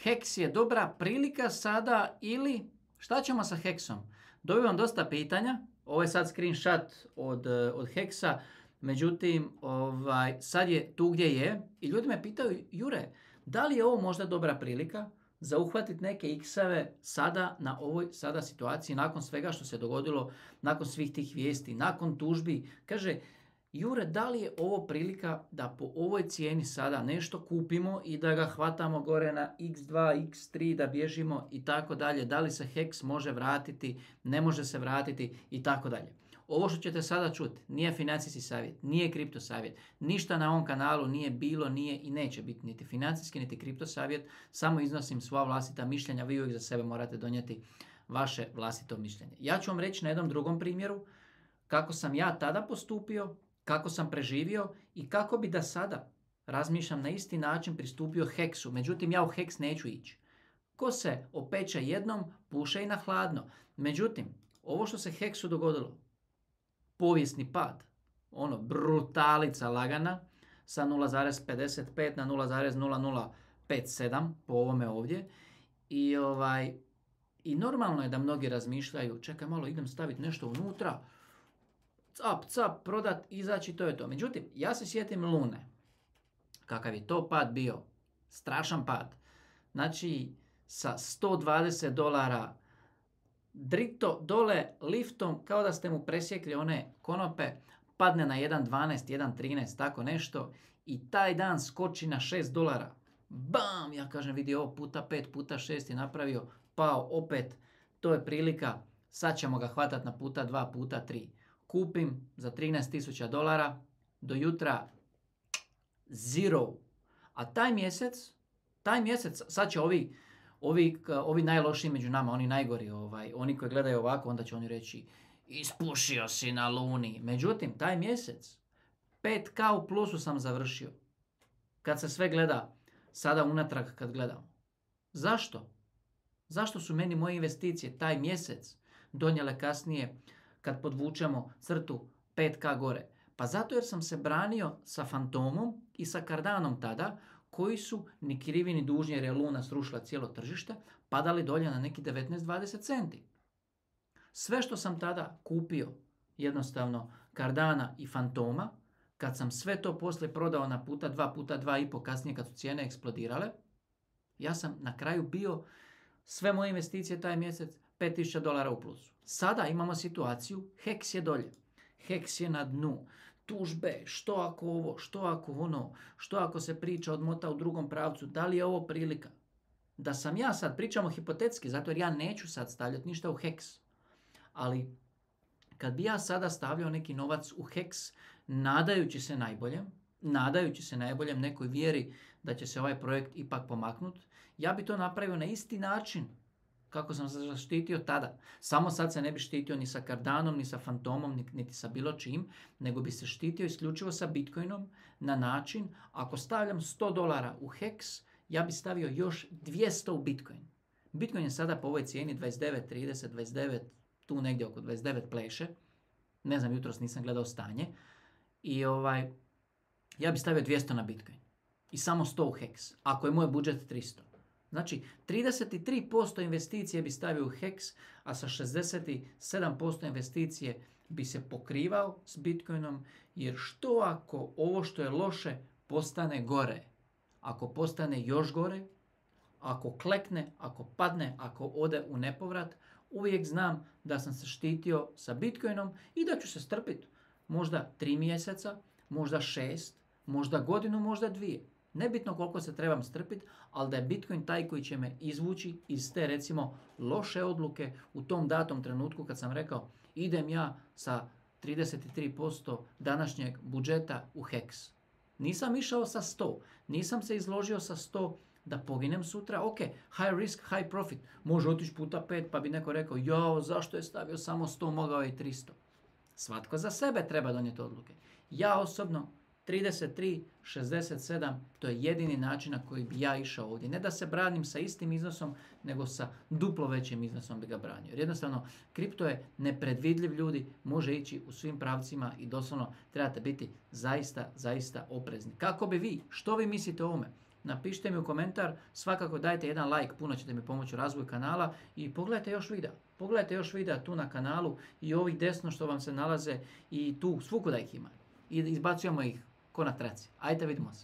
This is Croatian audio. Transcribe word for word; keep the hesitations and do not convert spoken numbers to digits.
Hex je dobra prilika sada ili šta ćemo sa Hexom? Dobivam dosta pitanja, ovo je sad screenshot od, od Hexa, međutim ovaj, sad je tu gdje je i ljudi me pitaju, Jure, da li je ovo možda dobra prilika za uhvatiti neke X-eve sada na ovoj sada situaciji, nakon svega što se dogodilo, nakon svih tih vijesti, nakon tužbi. Kaže, Jure, da li je ovo prilika da po ovoj cijeni sada nešto kupimo i da ga hvatamo gore na iks dva, iks tri, da bježimo i tako dalje. Da li se Hex može vratiti, ne može se vratiti i tako dalje. Ovo što ćete sada čuti nije financijski savjet, nije kripto savjet. Ništa na ovom kanalu nije bilo, nije i neće biti niti financijski, niti kripto savjet. Samo iznosim svoja vlastita mišljenja, vi uvijek za sebe morate donijeti vaše vlastito mišljenje. Ja ću vam reći na jednom drugom primjeru kako sam ja tada postupio, kako sam preživio i kako bi da sada razmišljam na isti način pristupio Hexu. Međutim, ja u Hex neću ići. Ko se opeče jednom, puše i na hladno. Međutim, ovo što se Hexu dogodilo, povijesni pad, ono, brutalica lagana, sa nula zarez pedeset pet na nula zarez nula nula pet sedam po ovome ovdje. I, ovaj, i normalno je da mnogi razmišljaju, čekaj malo, idem staviti nešto unutra, cap, cap, prodat, izaći, to je to. Međutim, ja se sjetim Lune. Kakav je to pad bio? Strašan pad. Znači, sa sto dvadeset dolara drito dole liftom, kao da ste mu presjekli one konope, padne na jedan dvanaest, jedan trinaest, tako nešto, i taj dan skoči na šest dolara. Bam! Ja kažem, vidi ovo puta pet, puta šest je napravio, pao opet, to je prilika, sad ćemo ga hvatati na puta dva, puta tri. Kupim za trinaest tisuća dolara, do jutra zero. A taj mjesec, taj mjesec, sad će ovi, ovi, ovi najlošiji među nama, oni najgori, ovaj, oni koji gledaju ovako, onda će oni reći, ispušio si na Luni. Međutim, taj mjesec, pet ka u plusu sam završio. Kad se sve gleda, sada unatrag kad gledamo. Zašto? Zašto su meni moje investicije taj mjesec donijele kasnije, kad podvučemo crtu pet ka gore? Pa zato jer sam se branio sa Fantomom i sa Cardanom tada, koji su ni krivi ni dužni, jer je Luna srušila cijelo tržište, padali dolje na neki devetnaest dvadeset centi. Sve što sam tada kupio, jednostavno Cardana i Fantoma, kad sam sve to poslije prodao na puta dva, puta dva i po kasnije kad su cijene eksplodirale, ja sam na kraju bio sve moje investicije taj mjesec pet tisuća dolara u plusu. Sada imamo situaciju, Hex je dolje, Hex je na dnu, tužbe, što ako ovo, što ako ono, što ako se priča odmota u drugom pravcu, da li je ovo prilika? Da sam ja sad, pričamo hipotetski, zato jer ja neću sad stavljati ništa u Hex, ali kad bi ja sada stavljao neki novac u Hex, nadajući se najboljem, nadajući se najboljem nekoj vjeri da će se ovaj projekt ipak pomaknuti, ja bi to napravio na isti način kako sam se zaštitio tada. Samo sad se ne bi štitio ni sa Cardanom, ni sa Fantomom, niti sa bilo čim, nego bi se štitio isključivo sa Bitcoinom na način, ako stavljam sto dolara u Hex, ja bi stavio još dvjesto u Bitcoin. Bitcoin je sada po ovoj cijeni dvadeset devet, trideset, dvadeset devet, tu negdje oko dvadeset devet pleše. Ne znam, jutros nisam gledao stanje. I ovaj, ja bi stavio dvjesto na Bitcoin. I samo sto u Hex, ako je moj budžet tristo. Znači, trideset tri posto investicije bi stavio u Hex, a sa šezdeset sedam posto investicije bi se pokrivao s Bitcoinom, jer što ako ovo što je loše postane gore? Ako postane još gore, ako klekne, ako padne, ako ode u nepovrat, uvijek znam da sam se štitio sa Bitcoinom i da ću se strpiti možda tri mjeseca, možda šest, možda godinu, možda dvije. Nebitno koliko se trebam strpiti, ali da je Bitcoin taj koji će me izvući iz te, recimo, loše odluke u tom datom trenutku kad sam rekao idem ja sa trideset tri posto današnjeg budžeta u Hex. Nisam išao sa sto, nisam se izložio sa sto da poginem sutra. Ok, high risk, high profit. Može otići puta pet pa bi neko rekao jao, zašto je stavio samo sto, mogao je i tristo. Svatko za sebe treba donijeti odluke. Ja osobno trideset tri, šezdeset sedam, to je jedini način na koji bi ja išao ovdje. Ne da se branim sa istim iznosom, nego sa duplo većim iznosom bi ga branio. Jer jednostavno, kripto je nepredvidljiv, ljudi, može ići u svim pravcima i doslovno trebate biti zaista, zaista oprezni. Kako bi vi, što vi mislite o ovome? napišite mi u komentar, svakako dajte jedan like, puno ćete mi pomoći u razvoju kanala i pogledajte još videa. Pogledajte još videa tu na kanalu i ovih desno što vam se nalaze i tu, svukuda ih ima. I izbacujemo ih ko na traci. Ajde vidimo se.